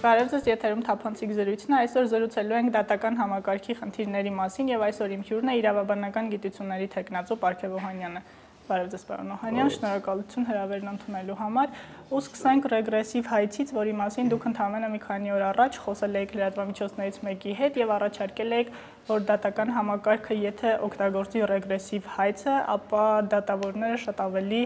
Բարև ձեզ, եթերում թափանցիկ զրույցն է, այսօր զրուցելու ենք դատական համակարգի խնդիրների մասին եւ այսօր իմ հյուրն է իրավաբանական գիտությունների թեկնածու Պարքև Օհանյանը։ Բարև ձեզ, պարոն Օհանյան, շնորհակալություն հրավերն ընդունելու համար։ Ու սկսենք ռեգրեսիվ հայցից, որի մասին դուք ընդամենը մի քանի օր առաջ խոսել եք լրատվամիջոցներից մեկի հետ եւ առաջարկել եք, որ դատական համակարգը եթե օգտագործի ռեգրեսիվ հայցը, ապա դատավորները շատ ավելի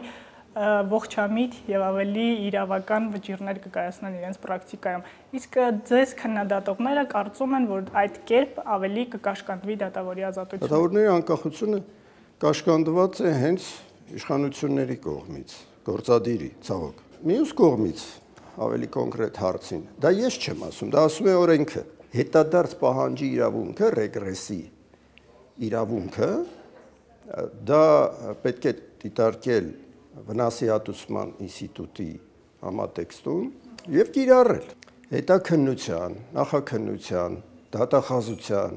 ողջամիտ եւ ավելի իրավական վճիռներ կկայացնեն իրենց պրակտիկայում։ Իսկ ձեզ քննադատողները կարծում են, որ այդ կերպ ավելի կկաշկանդվի դատավորի ազատությունը։ Դատավորների անկախությունը կաշկանդված է հենց իշխանությունների կողմից, գործադիրի, ցավոք։ Մյուս կողմից ավելի կոնկրետ հարցին, դա ես չեմ ասում, դա ասում է օրենքը։ Հետադարձ պահանջի իրավունքը, ռեգրեսի իրավունքը, դա պետք է դիտարկել վնասի հատուցման ինստիտուտի համատեքստում եւ կիրառել հետաքննության, նախաքննության, դատախազության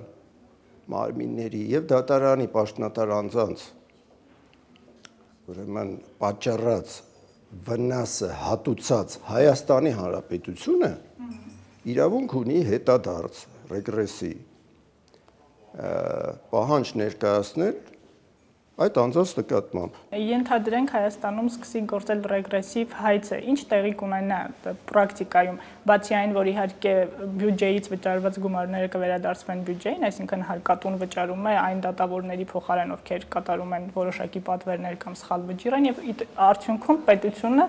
մարմինների եւ դատարանի պաշտոնատար անձանց ուրեմն պատճառած վնասը հատուցած Հայաստանի Հանրապետությունը իրավունք ունի հետադարձ ռեգրեսի պահանջ ներկայացնել այդ անձանց նկատմամբ։ Ենթադրենք Հայաստանում սկսի գործել ռեգրեսիվ հայցը, ինչ տեղի կունենա պրակտիկայում, բացի այն, որ իհարկե բյուջեից վճարված գումարները կվերադարձվեն բյուջեին, այսինքն հարկատուն վճարում է այն դատավորների փոխարեն, ովքեր կատարում են որոշակի պատվերներ կամ սխալ վճիռ են եւ արդյունքում պետությունը,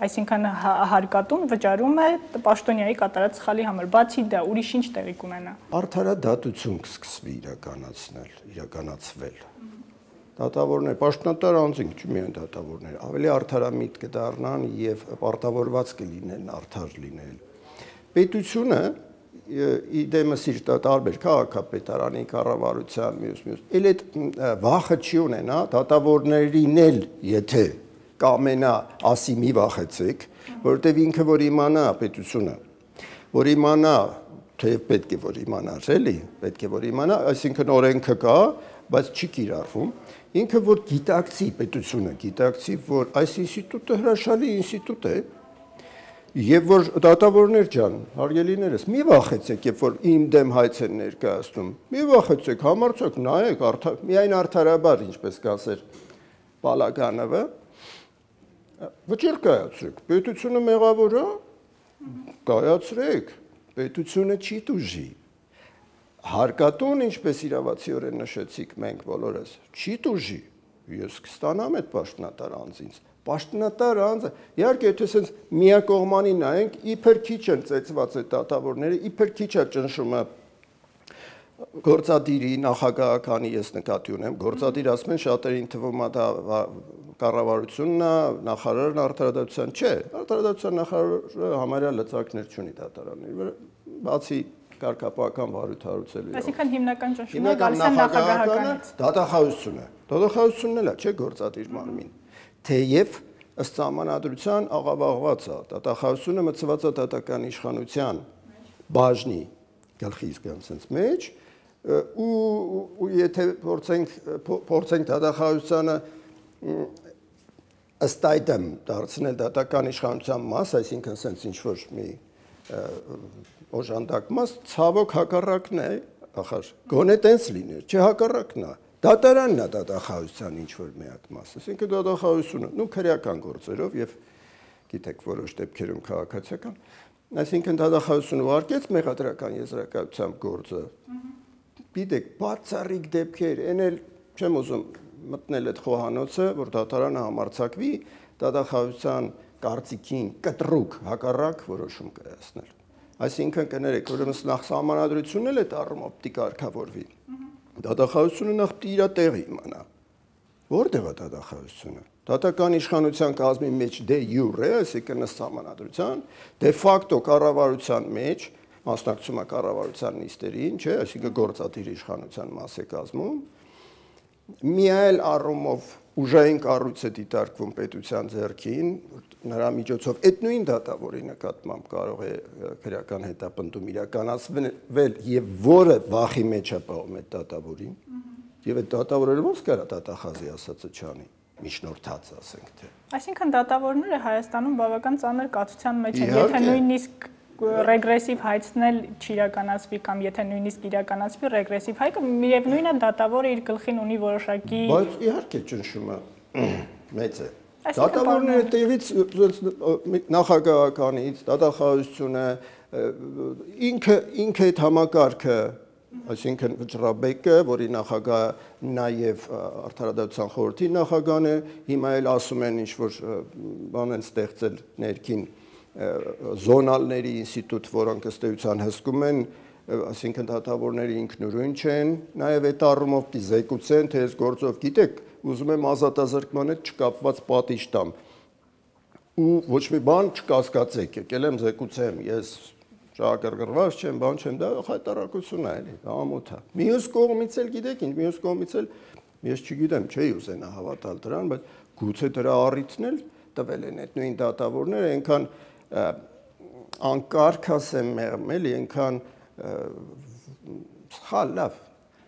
այսինքն հարկատուն վճարում է պաշտոնյայի կատարած սխալի համար, բացի դա ուրիշ ինչ տեղի կունենա։ Արդարադատություն կսկսվի իրականացվել։ Դատավորներ, պաշտոնատար անձինք, չի միայն դատավորներ, ավելի արդարամիտ կդառնան եւ պարտավորված կլինեն արդար լինել։ Պետությունը իդեմս իր տարբեր քաղաքապետարանի կառավարության մյուս, էլ այդ վախը չի ունենա դատավորներին էլ, եթե կամենա ասի մի վախեցեք, որովհետեւ ինքը որ իմանա պետությունը, որ իմանա, թե պետք է որ իմանար, էլի, պետք է որ իմանա, այսինքն օրենքը կա, բայց չի կիրառվում։ Ինքը որ գիտակցի պետությունը, գիտակցի, որ այս ինստիտուտը հրաշալի ինստիտուտ է, եւ որ դատավորներ ջան, հարգելիներս, մի վախեցեք, երբ որ իմ դեմ հայց են ներկայացնում, մի վախեցեք, համարձակ նայեք, միայն արդարաբար, ինչպես կասեր Պալագանովը, վճիռ կայացրեք, պետությունը մեղավոր է, կայացրեք, պետությունը չի տուժի։ Հարկատուն, ինչպես իրավացիորեն նշեցիք մենք բոլորս, չի տուժի, ես կստանամ այդ պաշտոնատար անձից, պաշտոնատար անձը, իհարկե եթե սենց միակողմանի նայենք, իբր քիչ են ծեծված այդ դատավորները, իբր քիչ է ճնշումը գործադիրի, նախագահականի ես նկատի ունեմ, գործադիր ասում են շատերին թվում է դա կառավարությունն է, նախարարն արդարադատության, չէ, արդարադատության նախարարը համարյա լծակներ չունի դատարանների վրա, բացի կարգապահական վարույթ-հարուցելու։ Այսինքն հիմնական ճնշումը գալիս է նախագահականից։ Դատախազությունը։ Դատախազությունն էլ է, չէ՞ գործադիր մարմին։ Թեև ըստ սահմանադրության աղավաղված է, դատախազությունը մտցված է դատական իշխանության բաժնի գլխի իսկյանցից մեջ, ու եթե փորձենք դատախազությանը ըստ այդմ դարձնել դատական իշխանության մաս, այսինքն sense ինչ-որ մի օժանդակմաս, ցավոք հակառակն է, ախր, գոնե տենց լիներ, չէ հակառակն է, դատարանն է դատախազության ինչ-որ միակ մաս, այսինքն դատախազությունը, նու քրեական գործերով եւ գիտեք որոշ դեպքերում քաղաքացիական, այսինքն դատախազությունը ուղարկեց մեղադրական եզրակացությամբ գործը, գիտեք, բացառիկ դեպքեր, այն էլ չեմ ուզում մտնել այդ խոհանոցը, որ դատարանը համարձակվի դատախազության կարծիքին կտրուկ հակառակ որոշում կայացնել։ Այսինքն կներեք, ուրեմն նախ սահմանադրությունն էլ այդ առումով պիտի կարգավորվի։ Դատախազությունը նախ պիտի իր տեղը իմանա։ Որտեղ է դատախազությունը։ Դատական իշխանության կազմի մեջ դե յուրե, այսինքն ըստ սահմանադրության, դե ֆակտո կառավարության մեջ մասնակցում է կառավարության նիստերին, չէ, այսինքն գործադիր իշխանության մաս է կազմում։ Միայն առումով ուժային կառույց է դիտարկվում պետության ձեռքին, նրա միջոցով այդ նույն դատավորի նկատմամբ կարող է քրեական հետապնդում իրականացվել եւ որը վախի մեջ է պահում այդ դատավորին, եւ այդ դատավորը ոնց կարա դատախազի ասածը չանի, միջնորդած ասենք թե։ Այսինքն դատավորները Հայաստանում բավական ծանր կացության մեջ են, եթե նույնիսկ ռեգրեսիվ հայցն էլ չիրականացվի կամ եթե նույնիսկ իրականացվի ռեգրեսիվ հայքը միևնույնն է դատավորը իր գլխին ունի որոշակի բայց իհարկե ճնշումը մեծ է դատավորները տեղից նախագահականից դատախազությունը ինքը այդ համակարգը այսինքն Վճռաբեկը, որի նախագահը նաև Արդարադատության խորհրդի նախագահն է, հիմա էլ ասում են ինչ-որ բան են ստեղծել ներքին զոնալների ինստիտուտ, որոնք ըստ էության հսկում են, այսինքն դատավորները ինքնուրույն չեն, նաև այդ առումով պիտի զեկուցեն, թե այս գործով գիտեք, ուզում եմ ազատազրկման հետ չկապված պատիժ տամ, ու ոչ մի բան չկասկածեք, եկել եմ զեկուցեմ, ես շահագրգռված չեմ, բան չեմ, դա խայտարակություն է, էլի, ամոթ է։ Մյուս կողմից էլ գիտեք ինչ, մյուս կողմից էլ ես չգիտեմ, չէի ուզենա հավատալ դրան, բայց գուցե դրա առիթն էլ տվել են այդ նույն դատավորները, այնքան անկարգ ասեմ մեղմ, էլի, այնքան սխալ լավ։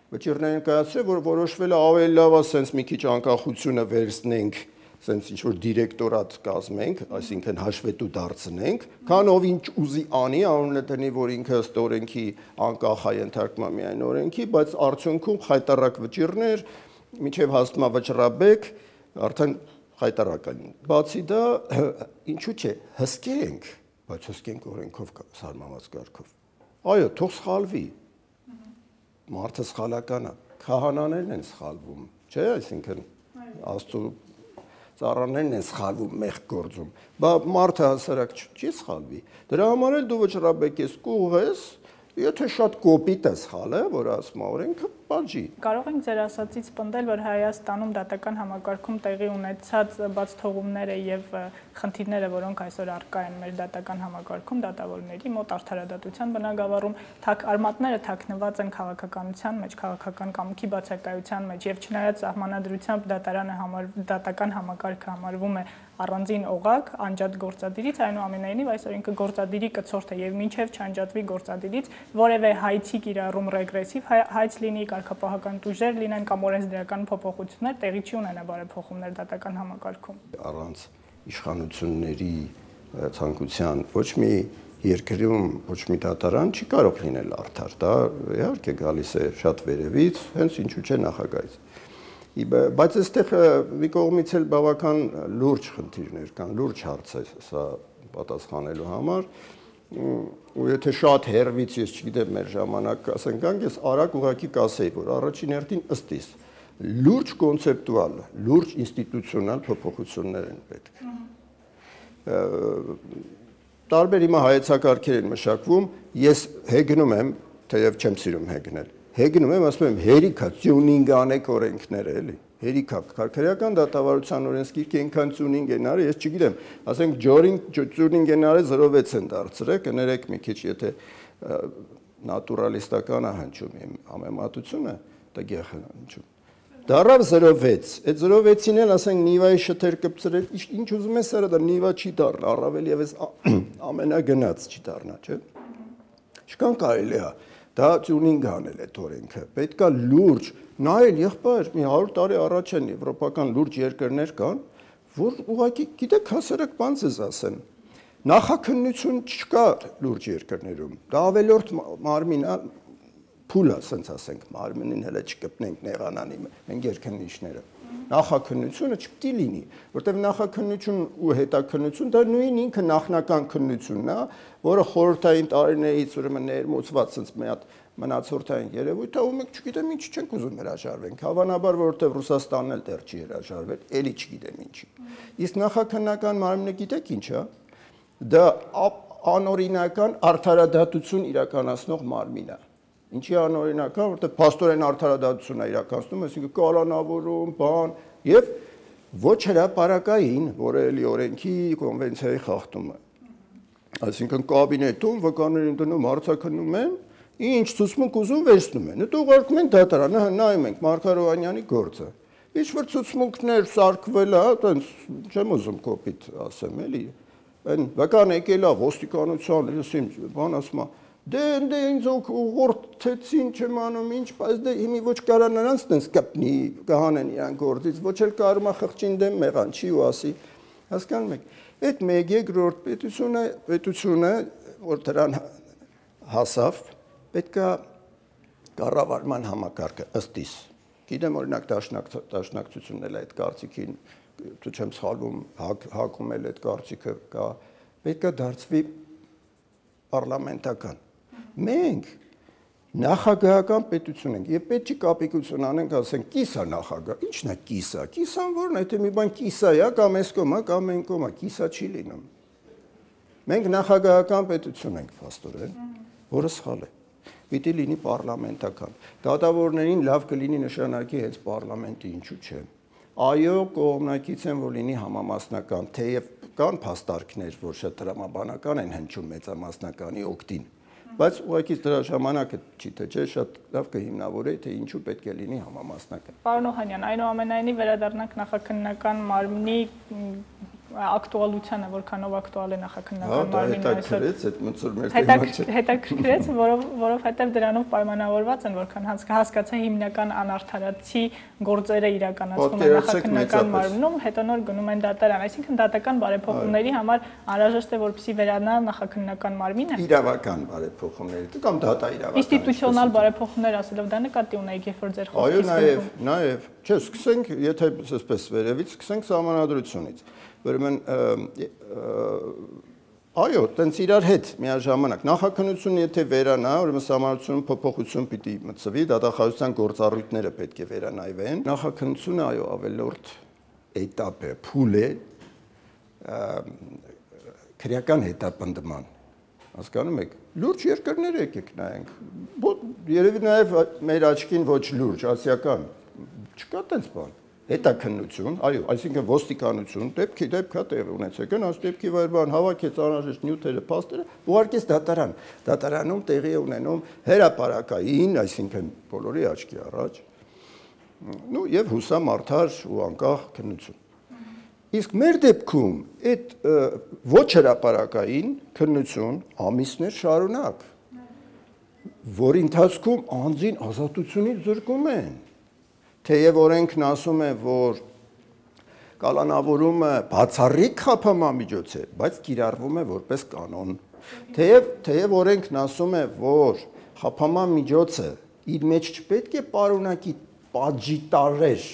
Վճիռներին կայացրել, որ որոշվել է ավելի լավ է սենց մի քիչ անկախությունը վերցնենք սենց ինչ-որ դիրեկտորատ կազմենք, այսինքն հաշվետու դարձնենք, քան ով ինչ ուզի անի, անունը դնի, որ ինքը ըստ օրենքի անկախ է ենթարկվում միայն օրենքի, բայց արդյունքում խայտարակ վճիռներ, մինչև հասնում է Վճռաբեկ, արդեն խայտարակ են։ Բացի դա, ինչու՞ չէ, հսկենք, բայց հսկենք օրենքով սահմանված կարգով։ Այո, թող սխալվի։ Մարդը սխալական է, քահանաներն են սխալվում, չէ՞, այսինքն Աստծո ծառաներն են սխալվում մեղք գործում, բայց մարդը հասարակ չի սխալվի։ Դրա համար էլ դու Վճռաբեկ ես կուղ ես, եթե շատ կոպիտ է սխալը, որ ասում է օրենքը, բաժի։ Կարող ենք ձեր ասածից պնդել, որ Հայաստանում դատական համակարգում տեղի ունեցած բացթողումները եւ խնդիրները, որոնք այսօր առկա են մեր դատական համակարգում, դատավորների մոտ արդարադատության բնագավառում, արմատները թաքնված են քաղաքականության մեջ, քաղաքական կամքի բացակայության մեջ եւ չնայած սահմանադրությամբ դատական համակարգը համարվում է առանձին օղակ անջատ գործադիրից, այնուամենայնիվ այսօր ինքը գործադիրի կցորդ է եւ մինչեւ չանջատվի գործադիրից որևէ հայցի կիրառում ռեգրեսիվ հայց լինի, կարգապահական տուժեր լինեն կամ օրենսդրական փոփոխություններ տեղի չի ունենա բարեփոխումներ դատական համակարգում։ Առանց իշխանությունների ցանկության ոչ մի երկրում ոչ մի դատարան չի կարող լինել արդար, դա իհարկե գալիս է շատ վերևից, հենց ինչու՞ չէ նախագահից։ Բայց այստեղ մի կողմից էլ բավական լուրջ խնդիրներ կան, լուրջ հարց է սա պատասխանելու համար, ու եթե շատ հեռվից ես չգիտեմ մեր ժամանակ ասենք գանք, ես արագ ուղղակի կասեի, որ առաջին հերթին ըստ իս լուրջ կոնցեպտուալ, լուրջ ինստիտուցիոնալ փոփոխություններ են պետք։ Տարբեր հիմա հայեցակարգեր են մշակվում, ես հեգնում եմ, թեև չեմ սիրում հեգնել, հեգնում եմ, ասում եմ, հերիքա, տյունինգ անեք օրենքները, էլի, հերիքա, քարքարական դատավարության օրենսգիրքը այնքան տյունինգ են արել, ես չգիտեմ, ասենք տյունինգ են արել 0.6 են դարձրել, կներեք մի քիչ, եթե նատուրալիստական է հնչում իմ համեմատությունը, տգեղ է հնչում։ Դառավ 0.6, այդ 0.6-ին էլ ասենք նիվայի շթեր կպցրել, ինչ ուզում ես արա, դա նիվա չի դառնա, առավել եւս ամենագնաց չի դառնա, չէ՞։ Ինչքան կարելի է դա տյունինգ անել այդ օրենքը, պետքա լուրջ, նայել եղբայր, մի 100 տարի առաջ են եվրոպական լուրջ երկրներ կան, որ ուղղակի գիտեք հասարակ բան ես ասեն, նախաքննություն չկա լուրջ երկրներում, դա ավելորդ մարմին է, փուլ է, ասենց ասենք, մարմինին հələ չկպնենք նեղանանի, մենք երկնիչները, նախաքննությունը չպետք է լինի, որտեղ նախաքննություն ու հետաքննություն դա նույն ինքը նախնական քննությունն է, որը խորհրդային տարիներից ուրեմն ներմուծված sense մի հատ մնացորդային երևույթ է, ու մենք չգիտեմ ինչ չենք ուզում հրաժարվենք, հավանաբար որովհետև Ռուսաստանն էլ դեռ չի հրաժարվել, էլի չգիտեմ ինչի։ Իսկ նախաքննական մարմինը գիտեք ինչ է, դա անօրինական արդարադատություն իրականացնող մարմին է։ Ինչի անօրինական, որտեղ փաստորեն արդարադատություն է իրականացնում, այսինքն կալանավորում, բան, եւ ոչ հրապարակային, որը էլի օրենքի կոնվենցիայի խախտում է։ Այսինքն կաբինետում վկաներին դնում հարցաքննում են, ինչ ցուցմունք ուզում վերցնում են։ Հետո ուղարկում են դատարան, նայում ենք Մարգարոյանյանի գործը։ Ինչ որ ցուցմունքներ սարքվել է, այտենց չեմ ուզում կոպիտ ասեմ, էլի։ Այն վկան եկել է ոստիկանության, լսիմ, բան ասում է դե ինձ ուղղորդեցին չեմ անում ինչ, բայց դե հիմի ոչ կարա նրանց տենց կպնի, կհանեն իրան գործից, ոչ էլ կարում է խղճին դեմ մեղան չի ու ասի, հասկանում եք, այդ մեկ երկրորդ պետությունը որ դրան հասավ, պետքա կառավարման համակարգը ըստ իս։ Գիտեմ օրինակ դաշնակցությունն էլ այդ կարծիքին, դու չեմ սխալվում, հակում էլ այդ կարծիքը կա, պետքա դարձվի պարլամենտական։ Մենք նախագահական պետություն ենք եւ պետք չի կապիկություն անենք, ասենք կիսա նախագահ, ի՞նչն է կիսա, կիսան որն է, թե մի բան կիսա է, կամ այս կոմա, կամ այն կոմա, կիսա չի լինում։ Մենք նախագահական պետություն ենք փաստորեն, որը սխալ է։ Պիտի լինի պարլամենտական։ Դատավորներին լավ կլինի նշանակի հենց պարլամենտի, ինչու՞ չէ։ Այո, կողմնակից են, որ լինի համամասնական, թեև կան փաստարկներ, որ շատ տրամաբանական են հնչում մեծամասնականի օգտին, բայց ուղղակի դրա ժամանակը չի թե չէ շատ լավ կհիմնավորեի, թե ինչու պետք է լինի համամասնական։ Պարոն Օհանյան, այնուամենայնիվ վերադառնանք նախաքննական մարմնի ակտուալությանը, որքանով ակտուալ է նախաքննական մարմինը այսօր։ Հետաքրքրեց, որովհետև դրանով պայմանավորված են, որքան հասկացա հիմնական անարդարացի գործերը իրականացվում են նախաքննական մարմնում, հետո նոր գնում են դատարան, այսինքն դատական բարեփոխումների համար անհրաժեշտ է, որպեսզի վերանա նախաքննական մարմինը։ Իրավական բարեփոխումների կամ դատա իրավական։ Ինստիտուցիոնալ բարեփոխումներ ասելով դա նկատի ունեիք, երբ որ ձեր խոսքից։ Այո, նաև, չէ, սկսենք, եթե այսպես վերևից, սկսենք սահմանադրությունից։ Ուրեմն այո, տենց իրար հետ միաժամանակ նախաքննությունը եթե վերանա, ուրեմն սահմանադրությունը փոփոխություն պիտի մտցվի, դատախազության գործառույթները պետք է վերանայվեն։ Նախաքննությունը այո, ավելորդ էտապ է, փուլ է քրեական հետապնդման։ Հասկանում եք, լուրջ երկրներ եկեք նայենք։ Երևի նաև մեր աչքին ոչ լուրջ, ասիական։ Չկա տենց բան։ Հետաքննություն, այո, այսինքն ոստիկանություն, դեպքա տեղի ունեցեք, այս դեպքի վայր բան հավաքեց անհրաժեշտ նյութերը, փաստերը, ուղարկեց դատարան։ Դատարանում տեղի է ունենում հրապարակային, այսինքն բոլորի աչքի առաջ, եւ հուսամարդար ու անկախ քննություն։ Իսկ մեր դեպքում այդ ոչ հրապարակային քննություն ամիսներ շարունակ, որի ընթացքում անձին ազատությունից զրկում են։ Թեև օրենքն ասում է, որ կալանավորումը բացառիկ խափամամիջոց է, բայց կիրառվում է որպես կանոն։ Թեև օրենքն ասում է, որ խափամամիջոցը իր մեջ չպետք է պարունակի պատժի տարեր,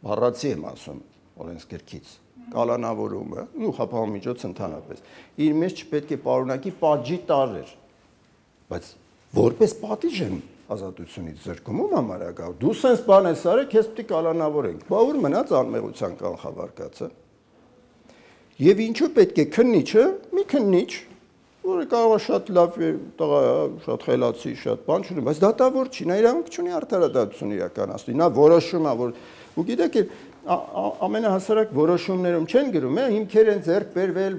բառացի եմ ասում օրենսգրքից, կալանավորումը, ու խափամամիջոցը ընդհանրապես, իր մեջ չպետք է պարունակի պատժի տարեր, բայց որպես պատիժ են ազատությունից զրկում համարակա, դու սենց բան ես արել, քեզ պետք է կալանավորենք, բա ուր մնաց անմեղության կանխավարկածը։ Եվ ինչու պետք է քննիչը, մի քննիչ, որը կարող է շատ լավ տղա, շատ խելացի, շատ բան չունի, բայց դատավոր չի, նա իրավունք չունի արդարադատություն իրականացնի, նա որոշում է, որ ու գիտեք, ամենահասարակ որոշումներում չեն գրում, հիմքեր են ձեռք բերվել,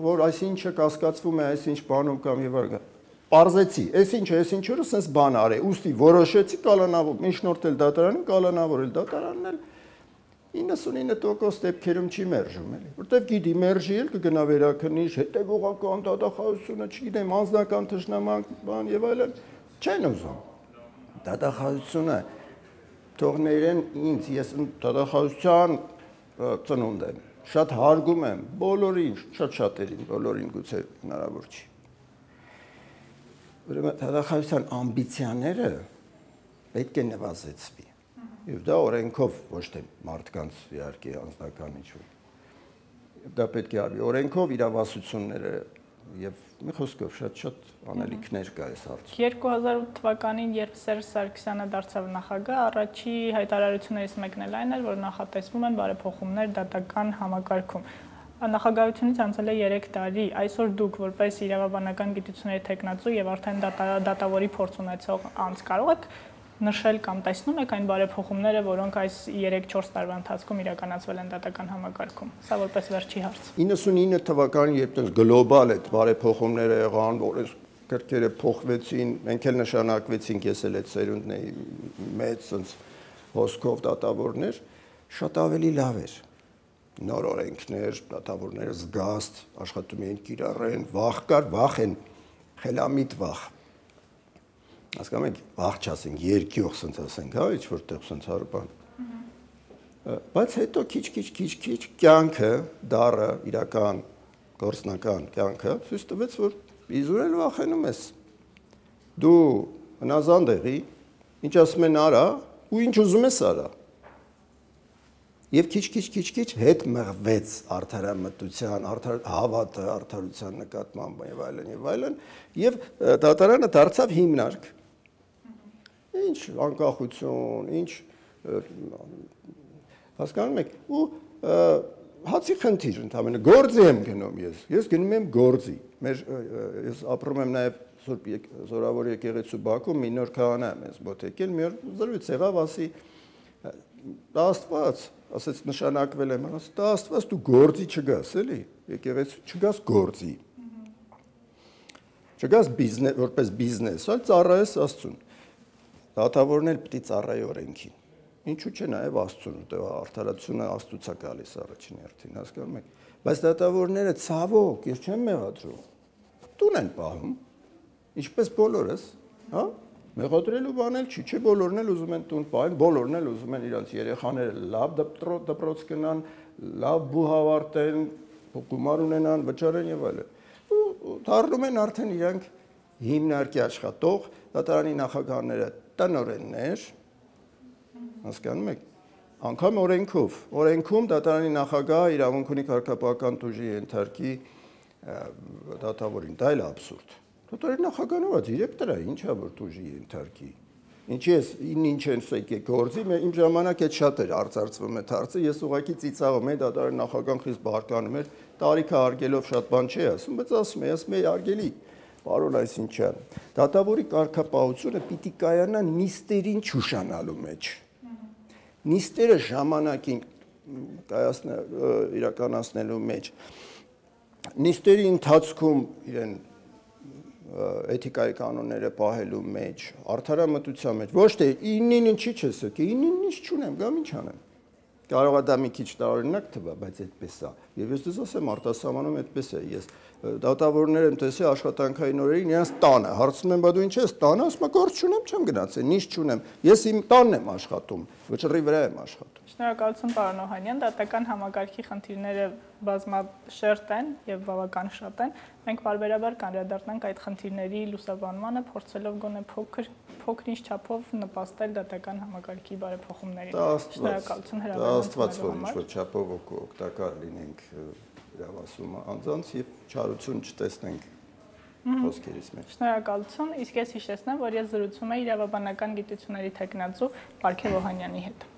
որ այսինչը կասկածվում է, այսինչ բանում կամ եւ այլն։ Պարզեցի, այսինչը սենց բան արե, ուստի որոշեցի կալանավոր, միջնորդել դատարանին, կալանավորել դատարանն էլ 99% դեպքերում չի մերժում, էլի, որտեվ գիտի մերժի էլ կգնա վերաքննիչ, հետևողական դատախազությունը, չգիտեմ, անձնական թշնամանք, բան եւ այլն, չեն ուզում։ Դատախազությունը թողներեն ինձ, ես դատախազության ծնունդ եմ, շատ հարգում եմ բոլորին, շատ-շատերին, բոլորին գուցե հնարավոր չի։ Ուրեմն դատախազության ամբիցիաները պետք է նվազեցվի։ Եվ դա օրենքով ոչ թե մարդկանց իհարկե անձնական ինչ-որ։ Դա պետք է արվի օրենքով իրավասությունները եւ մի խոսքով շատ անելիքներ կա այս հարցում։ 2008 թվականին, երբ Սերժ Սարգսյանը դարձավ նախագահ, առաջի հայտարարություններից մեկն էլ այն էր, որ նախատեսվում են բարեփոխումներ դատական համակարգում։ Նախագահությունից անցել է 3 տարի, այսօր դուք որպես իրավաբանական գիտությունների թեկնածու եւ արդեն դատավորի փորձ ունեցող անձ կարող եք նշել կամ տեսնում եք այն բարեփոխումները, որոնք այս 3-4 տարվա ընթացքում իրականացվել են դատական համակարգում։ Սա որպես վերջի հարց։ 99 թվականին, երբ տես գլոբալ այդ բարեփոխումները եղան, որ կրկերը փոխվեցին, մենք էլ նշանակվեցինք, ես էլ այդ սերունդն էի մեծ sense հոսքով դատավորներ, շատ ավելի լավ էր։ Նոր օրենքներ, դատավորները զգաստ աշխատում էին կիրառեն, վախ կար, վախ են, խելամիտ վախ։ Հասկանում եք, վախ չասենք, երկյուղ sense ասենք, հա, ինչ որտեղ sense հարբան։ Բայց հետո քիչ կյանքը, դառը, իրական գործնական կյանքը ցույց տվեց, որ իզուրել վախենում ես։ Դու հնազանդեղի, ինչ ասում են արա, ու ինչ ուզում ես արա։ Եվ քիչ հետ մղվեց արդարամտության, հավատը, արդարության նկատմամբ եւ այլն, եւ դատարանը դարձավ հիմնարկ։ Ինչ անկախություն, ինչ հասկանում եք, ու հացի խնդիր ընդամենը գործի եմ գնում ես գնում եմ գործի։ Ես ապրում եմ նաեւ Սուրբ Զորավոր եկեղեցու Բաքվում, մի նոր քահանա եմ ես մոտ եկել, մի օր զրույց եղավ, ասի Աստված, ասեց նշանակվել եմ, ասա Աստված դու գործի չգաս, էլի, եկեղեցու չգաս գործի։ Չգաս բիզնես, որպես բիզնես, այլ ծառայես Աստծուն։ Դատավորն էլ պիտի ծառայի օրենքին։ Ինչու՞ չէ նաև Աստծուն, որտեղ արդարացությունը Աստծուց է գալիս առաջին հերթին, հասկանում եք։ Բայց դատավորները ցավոք, ես չեմ մեղադրում։ Տուն են պահում, ինչպես բոլորս, հա։ Մեղադրելու բան էլ չի, չէ բոլորն էլ ուզում են տուն պահեն, բոլորն էլ ուզում են իրանց երեխաները լավ դպրոց գնան, լավ բուհ ավարտեն, գումար ունենան, վճարեն եւ այլն։ Ու դառնում են արդեն իրանք հիմնարկի աշխատող, դատարանի նախագահները տնօրեններ, հասկանում եք, անգամ օրենքում դատարանի նախագահը իրավունք ունի կարգապահական տուժի ենթարկի դատավորին, դա էլ աբսուրդ։ Դատարանի նախագահն ո՞ր է, դիրեկտորը, ինչա որ տուժի ենթարկի։ Ինչի ես ինչ են եկեք գործի, իմ ժամանակ այդ շատ էր արծարծվում այդ հարցը, ես ուղղակի ծիծաղում էի, դատարանի նախագահան խիստ բարկանում էր, տարիքը արգելով շատ բան չի ասում, բայց ասում է արգելի, պարոն Այսինչյան, դատավորի կարգապահությունը պիտի կայանա նիստերին չուշանալու մեջ։ Նիստերը ժամանակին իրականացնելու մեջ, նիստերի ընթացքում իրեն էթիկայի կանոնները պահելու մեջ, արդարամտության մեջ, ոչ թե ինին ինչի չես եկել, ինին ինչ չունեմ, գամ ինչ անեմ։ Կարող է դա մի քիչ տարօրինակ թվա, բայց այդպես է։ Եվ ես դες ասեմ արտասահմանում այդպես է։ Ես դատավորներ եմ տեսել աշխատանքային օրերին, իրենց տանը, հարցնում եմ, բա դու ինչ ես տանը, ասում եմ, գործ չունեմ, չեմ գնացել, ինչ չունեմ։ Ես իմ տանն եմ աշխատում, վճռի վրա եմ աշխատում։ Շնորհակալություն պարոն Օհանյան, դատական համակարգի խնդիրները բազմաշերտ են եւ բավական շատ են։ Մենք բարբերաբար կանդրադառնանք այդ խնդիրների լուսաբանմանը, փորձելով գոնե փոքր-ինչ չափով նպաստել դատական համակարգի բարեփոխումներին։ Շնորհակալություն հրավերն Աստված որ ինչ-որ չափով օգտակար լինենք իրավասումը անձանց եւ չարություն չտեսնենք խոսքերից մեջ։ Շնորհակալություն, իսկ ես հիշեցնեմ, որ ես զրուցում եմ իրավաբանական գիտությունների թեկնածու Պարքև Օհանյանի հետ։